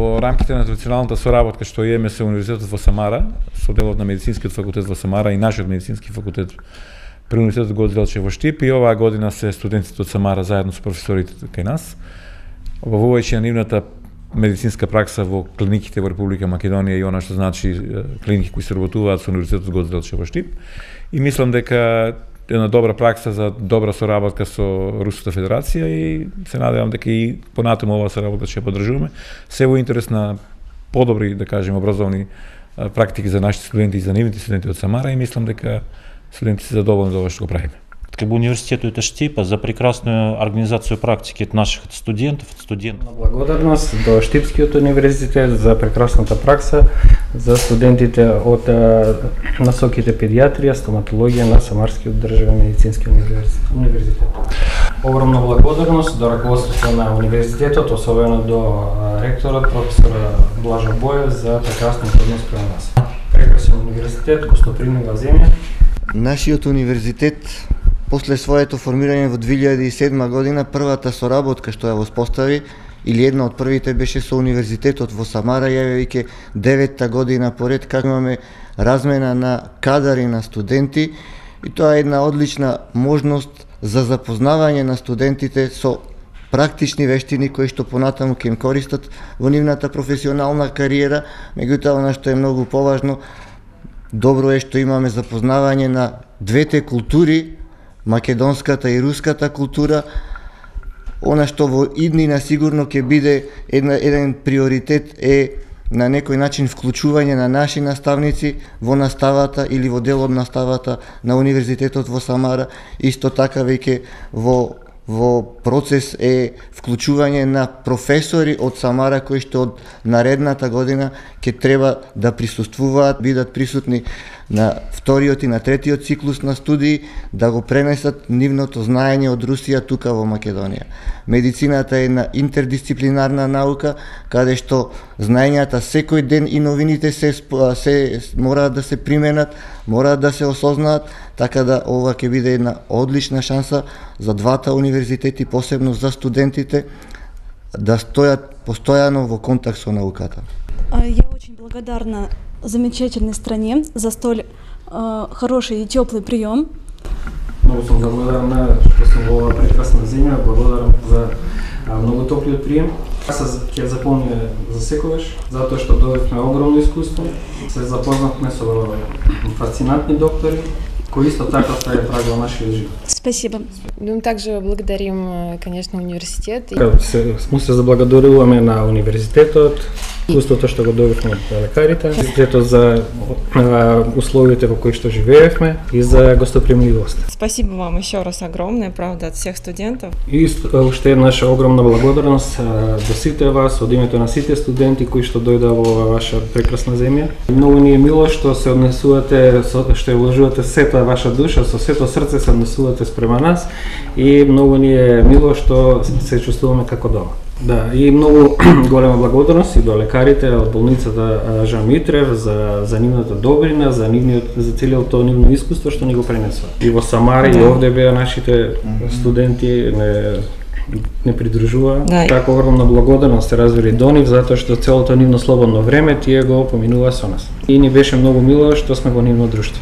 Во рамките на традиционалната соработка што имаме со Универзитетот во Самара, со делот на Медицинскиот факултет во Самара и нашиот Медицински факултет при Универзитетот Гоце Делчев во Штип, и оваа година се студентите од Самара заедно со професорите кај нас, обавувајќи на нивната медицинска пракса во клиниките во Република Македонија и она што значи клиники кои се работуваат со Универзитетот Гоце Делчев во Штип. И мислам дека една добра пракса за добра соработка со Руската Федерација и се надевам дека и понатаму оваа соработка ќе поддржуваме, се во интерес на подобри, да кажем, образовни практики за нашите студенти и за нивните студенти од Самара, и мислам дека студентите се задоволни за ова што го правиме. Как университету это Штипа за прекрасную организацию практики от наших студентов. Благодарност до Штипскиот универзитет за прекрасната пракса за студентите од насоките педиатрија, стоматологија на Самарскиот државен медицински универзитет. Огромна благодарност до раководството на универзитетот, особено до ректорот професор Блажо Боев за прекрасниот однос према нас. Прекрасен универзитет, гостопримлива земја. Нашиот универзитет после своето формирање во 2007 година, првата соработка што ја воспостави, или една од првите, беше со Универзитетот во Самара, јавјајќи 9-та година поред, како имаме размена на кадари на студенти, и тоа е една одлична можност за запознавање на студентите со практични вештини кои што понатаму ќе им користат во нивната професионална кариера. Меѓутоа, она што е многу поважно, добро е што имаме запознавање на двете култури, македонската и руската култура. Она што во иднина сигурно ќе биде еден приоритет е на некој начин вклучување на наши наставници во наставата или во дел од наставата на Универзитетот во Самара. Исто така веќе во процес е вклучување на професори од Самара кои што од наредната година ќе треба да присуствуваат, бидат присутни на вториот и на третиот циклус на студии, да го пренесат нивното знаење од Русија тука во Македонија. Медицината е една интердисциплинарна наука, каде што знаењата секој ден и новините се мораат да се применат, мораат да се осознаат, така да ова ќе биде една одлична шанса за двата универзитети, посебно за студентите, да стојат постојано во контакт со науката. Я очень благодарна замечательной стране за столь хороший и теплый прием. Много съм благодарна што сум во оваа прекрасна земја, благодарам за многу топлиот прием. Аз ќе запомня за секогаш, затоа што добивме огромно искуство, се запознавме со фасцинантни доктори, кои исто така ставят праг во нашиот живот. Спасибо. Мы также благодарим, конечно, университет. Мы се заблагодаруваме на универзитетот, искуството што го добивме од лекарите, университетот за условията во кои што живеевме и за гостопримливост. Спасибо вам еще раз огромное, правда, от всех студентов. И уште една наша огромна благодарност до сите вас, од името на сите студенти кои што дојдоа во ваша прекрасна земја. Многу ни е мило што се однесувате, што вложувате сета ваша душа, со сето срце се однесувате спрема нас, и многу ни е мило што се чувствуваме како дома. Да, и многу голема благодарност и до лекарите од болницата Жан Митрев за нивната добрина, за целиот тоа нивно искуство што ни го пренесува. И во Самара и овде беа нашите студенти не придружува. Така огромна благодарност се развили до нив, затоа што целото нивно слободно време тие го поминува со нас. И ни беше многу мило што сме во нивно друштво.